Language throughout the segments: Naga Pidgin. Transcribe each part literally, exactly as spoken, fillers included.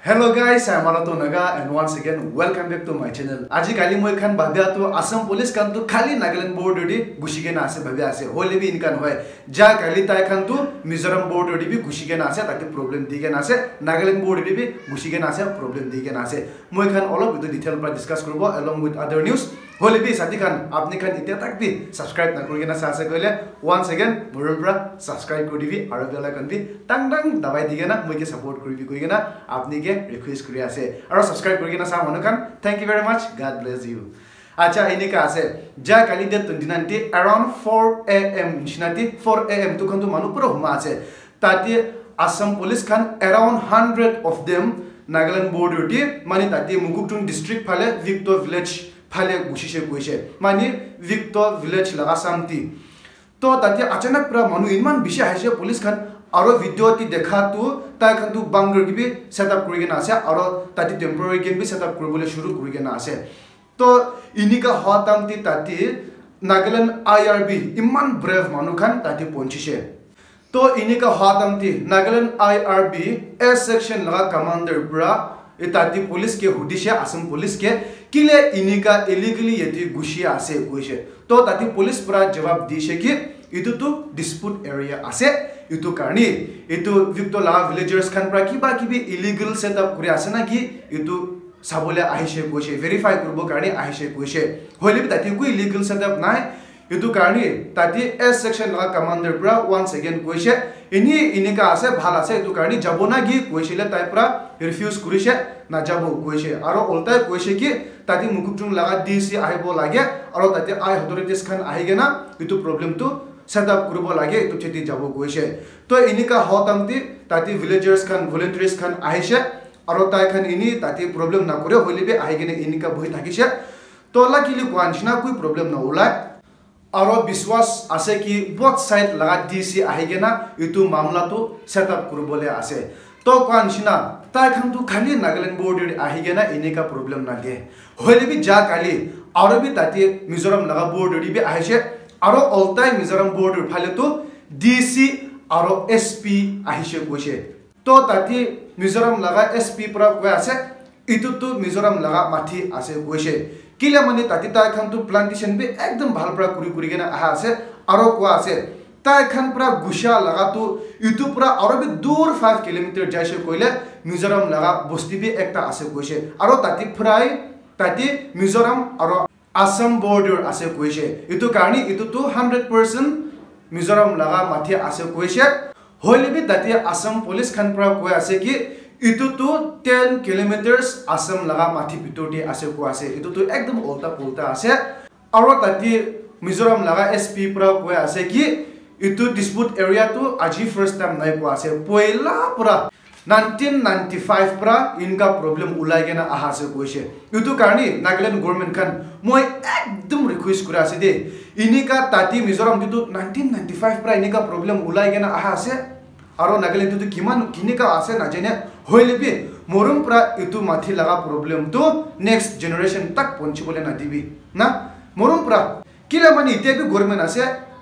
Hello guys, I am Alato Naga and once again welcome back to my channel. Aji kali moi khan bhabya tu Assam police khan tu khali Nagaland border di gushi kena ase bhabya ase. Hoile bi inka nohoi. Ja kali tai khan tu Mizoram border di bi gushi kena ase, tate problem di kena ase. Nagaland border di bi gushi kena ase, problem di kena ase. Moi khan olop itu detail pra discuss kuribo along with other news. Hoile bi sati khan, apni khan itya tak bi subscribe na kuri kena sa ase koile, once again, morom pra subscribe kuri dibi, aro bell icon bi tang tang dabai di kena, moi ke support kuri bi koi kena, apni ke request kuri ase. Aro subscribe kuri kena sa manu khan, thank you very much, God bless you. Acha, enika ase, ja kali date twenty nine ti around four a m nishina ti, four a m tu khan tu manu pura huma ase. Tate Assam police khan around hundred of them Nagaland border ti, mani tate Mokokchung district phale, Victor village phale gushishe koishe. Mani Victor village laga samti. To tate achanak pra manu iman bishi ahishe police khan aro video ti dekha tu tai khan tu bunker ki bi set up kuri kena ase aro tate temporary camp bi set up kuribole shuru kuri kena ase. To inika hoa time ti tate Nagaland I R B iman brave manu khan tate ponchishe. To inika hoa time ti Nagaland I R B A section laga commander pra e tate police ke hudishe, Assam police ke, kile inika illegally yate gushi ase koishe. To tate police pra jawab dishe ki itu tu dispute area ase, itu karni itu Victor laga villagers khan pra kiba kibi illegal setup kuri ase na ki itu sabole ahishe koishe, verify kuribo karni ahishe koishe. Hoile bi tate ekoi illegal setup nai. Itu karni tate A section laga commander pra once again koishe, ini inika ase, bhal ase, itu karni jabo na ki koishe le tai pra refuse kurishe, na jabo koishe. Aro oltai koishe ki tate Mokokchung laga D C ahibo lage, aro tate I authorities khan ahi kena itu problem tu set up kuribo lage, itu cheti jabo koishe. To inika hoa time ti tate villagers khan, volunteers khan ahishe, aro tai khan ini tate problem na kore, hoile bi ahi kena inika bohi thakishe. To luckily koa nishina koi problem na ulai. Aro biswas ase ki both side laga D C ahi kena itu mamla tu set up kuribole ase. To koa nishina, tai khan tu khali Nagaland border ahi kena inika problem na de. Hoile bi ja kali, aro bi tate Mizoram laga border di bi ahishe, aro oltai Mizoram border phale tu D C aro S P ahishe koishe. To tate Mizoram laga S P pra koi ase, itu tu Mizoram laga mathi ase koishe. Kile mane tate tai khan tu plantation bi ekdom bhal pra kuri kuri kena aha ase, aro koa ase, tai khan pra gusha laga tu itu pra aro bi dur five kilometer jaishe koile Mizoram laga bosti bi ekta ase koishe. Aro tate prai, tate Mizoram aro Assam border ase koishe. Itu karni itu tu hundred percent Mizoram laga mathi ase koishe. Hoile bi tate Assam police khan pra koi ase ki itu tu ten kilometers Assam laga mathi bitor te ase koi ase. Itu tu ekdom ulta pulta ase. Aro tate Mizoram laga S P pra koi ase ki itu dispute area tu aji first time nai koi ase. Poila pra nineteen ninety five pra inka problem ulai kena aha ase koishe. Itu karni Nagaland government khan moi ekdom request kura ase de. Inika tate Mizoram te tu nineteen ninety five pra inika problem ulai kena aha ase. Aro Nagaland te tu kiman kinika ase najane. Hoile bi morom pra itu mathi laga problem tu next generation tak ponchibole na dibi. Na, morom pra. Kila mani ite bi government ase,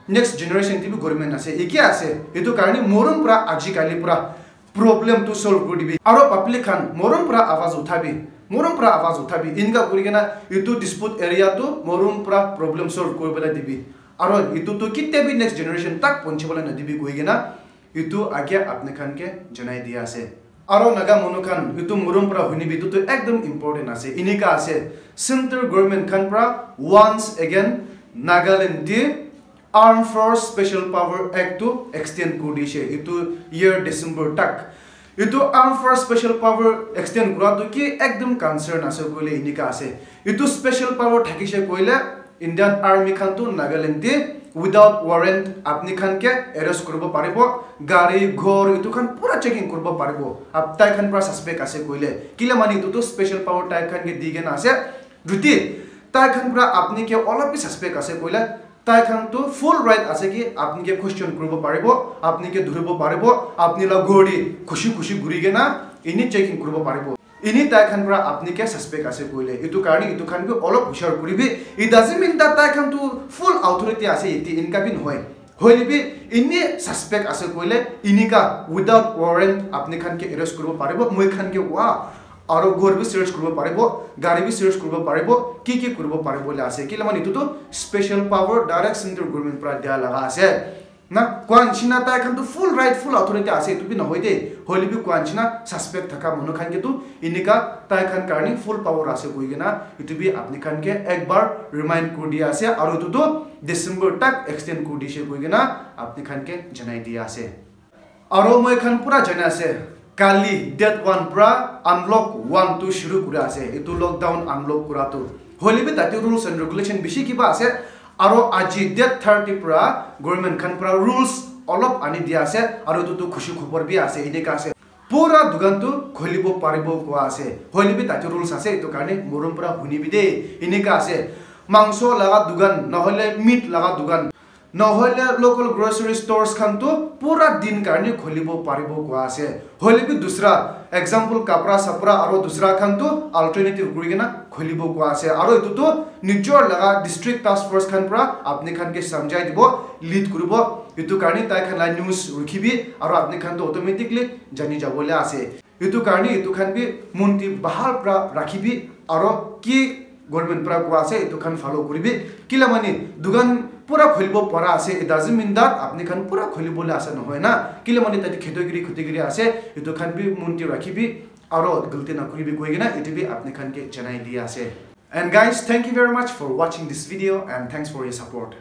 next generation te bi government ase. Ike ase. Itu karni morom pra aji kali pra problem tu solve kuri dibi. Aro public khan morom pra awaz uthabi, morom pra awaz uthabi. Inka kuri kena itu dispute area tu morom pra problem solve kuri bole dibi. Aro itu tu kitte bi next generation tak ponchibole na dibi koi kena itu age apni khan ke janai dia ase. Aro Naga manu khan itu morom pra hunibi itu tu ekdom important ase. Inika ase. Central government khan pra once again Nagaland te Armed Force Special Power Act tu extend kuri dishe itu year December tak. Itu Armed Force Special Power extend kura tu ki ekdom concern ase koile inika ase. Itu special power thakishe koile Indian Army khan tu Nagaland te without warrant apni khan ke arrest kuribo paribo, gari, ghor itu khan pura checking kuribo paribo. Ap tai khan pra suspect ase koile. Kila mani itu tu special power tai khan ke di kena ase. Juti tai khan pra apni ke olop bi suspect ase koile, tai khan tu full right ase ki apni ke question kuribo paribo, apni ke dhuribo paribo, apni la ghor te khushi khushi ghuri kena ini checking kuribo paribo. Ini tai khan pra apni ke suspect ase koile. Itu karni itu khan bi olop hushar kuribi. It doesn't mean that tai khan tu full authority ase iti inka bi nohoi. Hoile bi ene suspect ase koile, enika without warrant apni khan ke arrest kuribo paribo, moi khan ke wa aro ghor bi search kuribo paribo, gari bi search kuribo paribo, ki ki kuribo paribo le ase. Kile mane etu tu special power direct central government pra dia laga ase. Na koa nishina tai khan tu full right, full authority ase, etu bi nohoi de, hoile bi koa nishina suspect thaka manu khan ke tu enika tai khan karne full power ase koi kena etu bi apni khan ke ekbar remind kuri dia ase, aro etu tu December tak extend kuri dishe koi kena apni khan ke janai dia ase. Aro moi khan pura jana ase, kali date one pra unlock one tu shuru kura ase, etu lockdown unlock kura tu. Hoile bi tate rules and regulation bishi kiba ase, aro aji date thirty pra government khan pra rules olop ani dia ase, aro etu tu khushi khobor bi ase, enika ase. Pura dukan tu kholibo paribo koa ase, hoile bi tate rules ase, etu karne morom pra huni bi de, enika ase. Mangso laga dukan, nohole meat laga dukan, nohole local grocery stores khan tu pura din karne kholibo paribo koa ase. Hoile bi dusra, example, kapra sapra aro dusra khan tu alternative kuri kena kholibo koa ase. Aro etu tu nijor laga district task force khan pra apni khan ke samjhai dibo, lead kuribo. Etu karne tai khan la news rukhibi aro apni khan tu automatically jani jabo le ase. Etu karne etu khan bi mon te bahal pra rakhibi aro ki government pra koa ase etu khan follow kuribi. Kila mane dukan pura kholibo para ase, it doesn't mean that apni khan pura kholibo le ase, nohoi na. Kila mane tate kheto giri khuti giri ase, etu khan bi mon te rakhibi aro galti na kuribi koi kena etu bi apni khan ke janai dia ase. And guys, thank you very much for watching this video and thanks for your support.